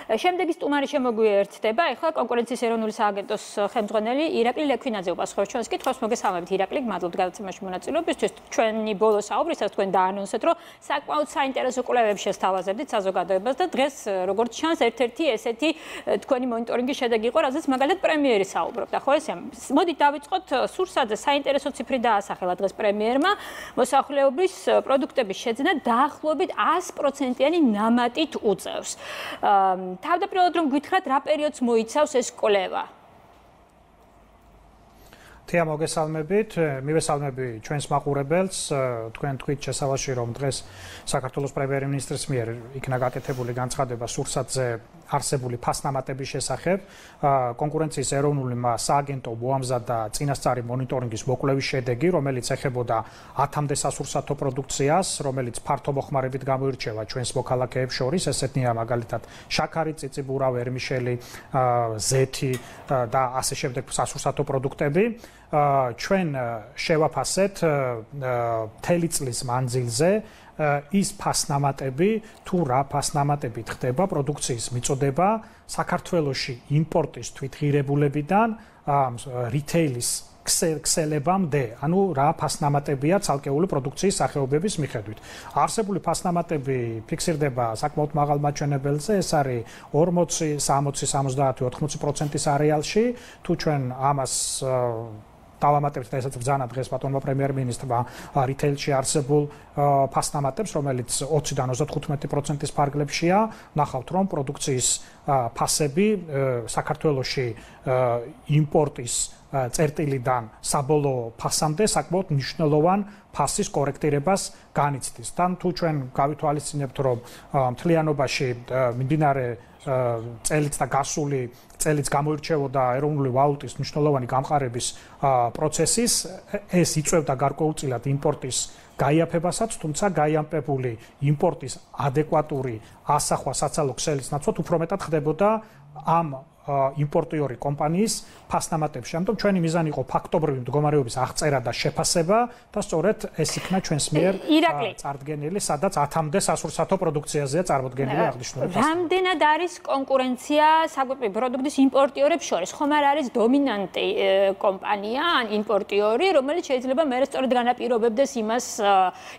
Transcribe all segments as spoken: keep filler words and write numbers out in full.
შემდეგი სტუმარი შემოგვიერთდება. ეხლა კონკურენციის ეროვნული სააგენტოს ხელმძღვანელი ირაკლი ლექვინაძე უპასუხობს ჩვენს კითხვას. მოგესალმებით ირაკლი, მადლობთ გადაცემაში მონაწილეობისთვის. ჩვენი ბოლო საუბრისას თქვენ დაანონსეთ, რომ საკმაოდ საინტერესო კვლევებს შესთავაზებდით საზოგადოებას და დღეს როგორც ჩანს ერთ-ერთი ესეთი თქვენი მონიტორინგის შედეგი იყო, რაზეც მაგალითად პრემიერი საუბრობდა, ხო ესე? მოდით დავიწყოთ სურსაძე საინტერესო ციფრი დაასახელა დღეს პრემიერმა. მოსახლეობის პროდუქტების შეძენა დაახლოებით ას პროცენტიანი ნამატით უწევს. თავდაპირველად რომ გითხრათ, რა პერიოდს მოიცავს ეს კვლევა? თეა მოგესალმებით, მივესალმები ჩვენს მაყურებელს, თქვენ თქვით შესავალში რომ დღეს საქართველოს პრემიერ-მინისტრის მიერ იქნა გაკეთებული განცხადება სურსათზე არსებული ფასნამატების შესახებ, კონკურენციის ეროვნული სააგენტო მოამზადა წინასწარი მონიტორინგის მოკვლევის შედეგი, რომელიც ეხებოდა ათამდე სასურსათო პროდუქციას, რომელიც ფართომოხმარებით გამოირჩევა ჩვენს მოქალაქეებს შორის, ესეთნია მაგალითად შაქარი, წიწიბურა, ვერმიშელი, ზეთი და ასე შემდეგ სასურსათო პროდუქტები. ჩვენ შევაფასეთ მთელი წლის მანძილზე ის ფასნამატები, თუ რა ფასნამატებით ხდება პროდუქციის მიწოდება საქართველოში იმპორტის თვითღირებულებიდან რიტეილის ქსელებამდე, ანუ რა ფასნამატებია ცალკეული პროდუქციის სახეობების მიხედვით. არსებული ფასნამატები ფიქსირდება საკმაოდ მაღალ მაჩვენებელზე, ეს არის ორმოცი, სამოცი, სამოცდაათი, ოთხმოცი პროცენტის არეალში, თუ ჩვენ ამას დავამატებთ და ესაც ბრძანა დღეს ბატონმა პრემიერ-მინისტრმა რიტეილში არსებულ ფასნამატებს, რომელიც ოციდან ოცდათხუთმეტი პროცენტის ფარგლებშია, ნახავთ რომ პროდუქციის ფასები საქართველოში იმპორტის წერტილიდან საბოლოო ფასამდე საკმაოდ მნიშვნელოვან ფასის კორექტირებას განიცდის. თან თუ ჩვენ გავითვალისწინებთ რომ მთლიანობაში მიმდინარე წელიც და გასული წელიც გამოირჩეოდა ეროვნული ვალუტის მნიშვნელოვანი გამყარების პროცესის, ეს იწვევდა გარკვეულწილად იმპორტის გაიაფებასაც, თუმცა გაიამპებული იმპორტის ადეკვატური ასახვა საცალო ქსელის ნაცვლად უფრო მეტად ხდებოდა ამ იმპორტიორი კომპანიის ფასნამატებში. ამიტომ ჩვენი მიზანი იყო ფაქტობრივი მდგომარეობის აღწერა და შეფასება და სწორედ ეს იქნა ჩვენს მიერ წარდგენილი, სადაც ათამდე სასურსათო პროდუქციაზეა წარმოდგენილი აღნიშნული ფასი. რამდენად არის კონკურენცია საკვები პროდუქტის იმპორტიორებს შორის? ხომ არ არის დომინანტი კომპანია ან იმპორტიორი, რომელიც შეიძლება მერე სწორედ განაპირობებდეს იმას,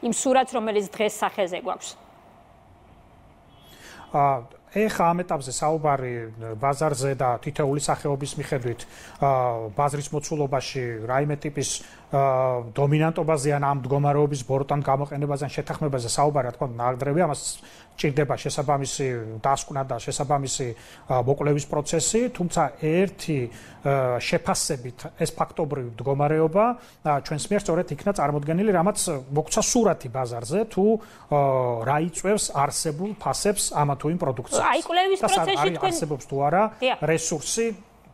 იმ სურათს, რომელიც დღეს სახეზე გვაქვს? ეხა ამ ეტაპზე საუბარი ბაზარზე და თითოეული სახეობის მიხედვით ბაზრის მოცულობაში რაიმე ტიპის დომინანტობაზე ან ამ მდგომარეობის ბოროტან გამოყენებაზე ან შეთანხმებაზე საუბარი, რა თქმა უნდა, ნაკლებია, ამას ჭირდება შესაბამისი დასკვნა და შესაბამისი მოკვლევის პროცესი, თუმცა ერთი შეფასებით ეს ფაქტობრივი მდგომარეობა ჩვენს მიერ სწორედ იქნა წარმოდგენილი, რამაც მოგცა სურათი ბაზარზე, თუ რა იწვევს არსებულ ფასებს ამა თუ იმ პროდუქციას. აი კვლევის პროცესში თქვენ არსებობს თუ არა რესურსი,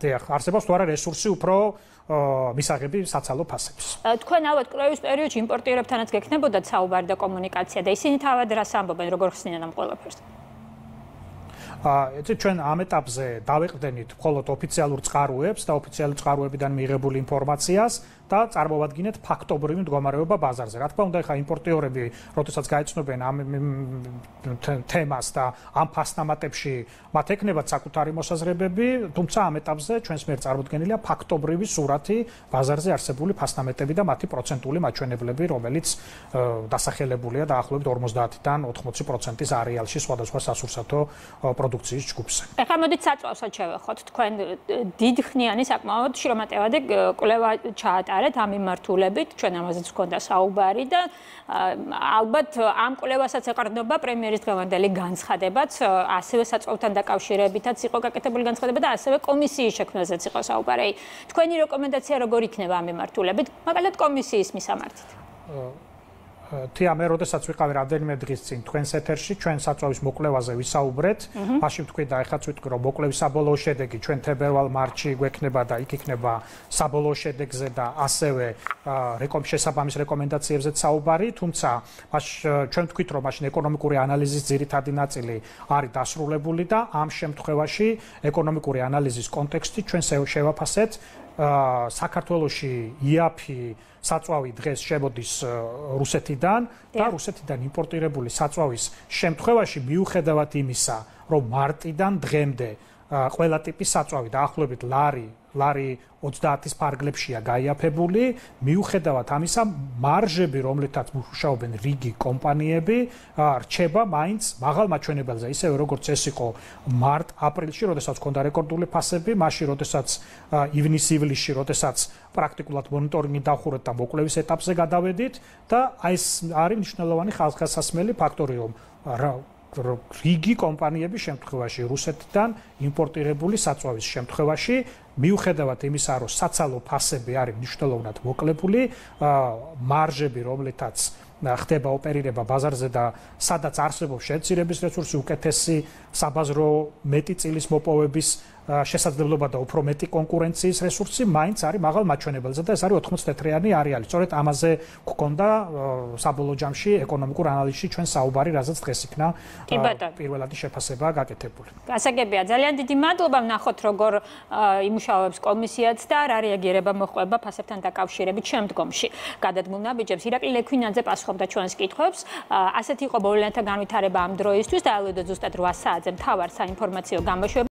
დიახ, არსებობს თუ არა რესურსი უფრო მისაღები საცალო ფასებს. თქვენ ალბათ კვლევის პერიოდში იმპორტიორებთანაც გექნებოდათ საუბარი და კომუნიკაცია და ისინი თავად რას ამბობენ, როგორ ხსნიან ამ ყველაფერს? ეცეთ ჩვენ ამ ეტაპზე დავეყრდენით მხოლოდ ოფიციალურ წყაროებს და ოფიციალური წყაროებიდან მიიღებული ინფორმაციას და წარმოვადგინეთ ფაქტობრივი მდგომარეობა ბაზარზე. რა თქმა უნდა, ხა იმპორტიორები, როდესაც გაეცნობენ ამ თემას და ამ ფასნამატებში მათ ექნებათ საკუთარი მოსაზრებები, თუმცა ამ ეტაპზე ჩვენს მიერ წარმოდგენილია ფაქტობრივი სურათი ბაზარზე არსებული ფასნამეტები და მათი პროცენტული მაჩვენებლები, რომელიც დასახელებულია დაახლოებით ორმოცდაათიდან ოთხმოცი პროცენტის არეალში სხვადასხვა სასურსათო პროდუქციის ჯგუფზე. ეხლა მოდით საწვავსად შევეხოთ. თქვენ დიდხნიანი საკმაოდ შრომატევადი კვლევა ჩაატარეთ ამ მიმართულებით, ჩვენ ამაზეც გვქონდა საუბარი და ალბათ ამ კვლევასაც ეყრდნობა პრემიერის დღევანდელი განცხადებაც, ასევე საწვავთან დაკავშირებითაც იყო გაკეთებული განცხადება და ასევე კომისიის შექმნაზეც იყო საუბარი. თქვენი რეკომენდაცია როგორ იქნება ამ მიმართულებით, მაგალითად კომისიის მისამართით? თეა მე როდესაც ვიყავი რამდენიმე დღის წინ თქვენს ეთერში, ჩვენ საწვავის მოკვლევაზე ვისაუბრეთ, მაშინ თქვი და ეხლაც ვიტყვი, რომ მოკვლევის საბოლოო შედეგი ჩვენ თებერვალ-მარტში გვექნება და იქ იქნება საბოლოო შედეგზე და ასევე შესაბამის რეკომენდაციებზეც საუბარი, თუმცა ჩვენ ვთქვით, რომ მაშინ ეკონომიკური ანალიზის ძირითადი ნაწილი არის დასრულებული და ამ შემთხვევაში ეკონომიკური ანალიზის კონტექსტით ჩვენ შევაფასეთ საქართველოში იაფი საწვავი დღეს შემოდის რუსეთიდან და რუსეთიდან იმპორტირებული საწვავის შემთხვევაში მიუხედავად იმისა, რომ მარტიდან დღემდე ყველა ტიპის საწვავი დაახლოებით ლარი ლარი ოცდაათის ფარგლებშია გაიაფებული, მიუხედავად ამისა, მარჟები, რომლითაც მუშაობენ რიგი კომპანიები, რჩება მაინც მაღალ მაჩვენებელზე, ისევე როგორც ეს იყო მარტ-აპრილში, როდესაც ჰქონდა რეკორდული ფასები, მაშინ, როდესაც ივნის-ივლისში, როდესაც პრაქტიკულად მონიტორინგი დავხურეთ და მოკვლევის ეტაპზე გადავედით და აი ეს არის მნიშვნელოვანი ხალხასასმელი ფაქტორი, რომ რიგი კომპანიების შემთხვევაში რუსეთიდან იმპორტირებული საწვავის შემთხვევაში მიუხედავად იმისა, რომ საცალო ფასები არის მნიშვნელოვნად მოკლებული, მარჟები, რომლითაც ხდება ოპერირება ბაზარზე და სადაც არსებობს შემცირების რესურსი, უკეთესი საბაზრო მეტი წილის მოპოვების შესაძლებლობა და უფრო მეტი კონკურენციის რესურსი, მაინც არის მაღალ მაჩვენებელზე და ეს არის ოთხმოცი თეთრიანი არეალი. სწორედ ამაზე გვქონდა საბოლოო ჯამში ეკონომიკურ ანალიზში ჩვენ საუბარი, რასაც დღეს იქნა პირველადი შეფასება გაკეთებული. გასაგებია, ძალიან დიდი მადლობა, ვნახოთ როგორ იმუშავებს კომისიაც და რა რეაგირება მოჰყვება ფასებთან დაკავშირებით შემდგომში. გადადგმულ ნაბიჯებს ირაკლი ლექვინაძე პასუხობდა ჩვენს კითხვებს. ასეთი იყო მოვლენათა განვითარება ამ დროისთვის და ალვედო ზუსტად რვა საათზე მთავარ საინფორმაციო გამოშვება